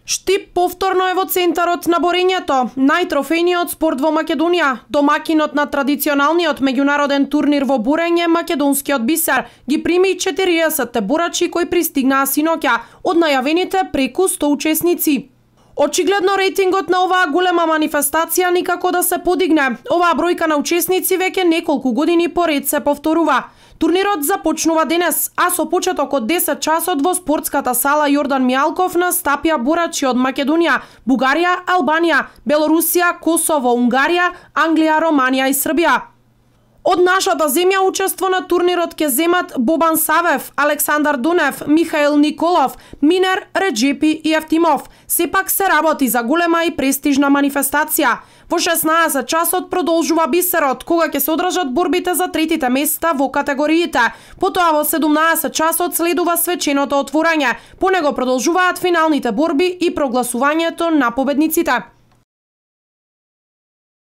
Штип повторно е во центарот на борењето. Најтрофејниот спорт во Македонија, домакинот на традиционалниот меѓународен турнир во бурење, македонскиот Бисер, ги прими 40 борачи кои пристигнаа синоќа, од најавените преку 100 учесници. Очигледно рейтингот на оваа голема манифестација никако да се подигне. Оваа бројка на учесници веќе неколку години поред се повторува. Турнирот започнува денес, а со почеток од 10 часот во спортската сала Јордан Мијалков настапија борачи од Македонија, Бугарија, Албанија, Белорусија, Косово, Унгарија, Англија, Романија и Србија. Од нашата земја учество на турнирот ќе земат Бобан Савев, Александар Дунев, Михаил Николов, Минер, Реджепи и Евтимов. Сепак се работи за голема и престижна манифестација. Во 16 часот продолжува Бисерот, кога ќе се одржат борбите за третите места во категориите. Потоа во 17 часот следува свеченото отворање. По него продолжуваат финалните борби и прогласувањето на победниците.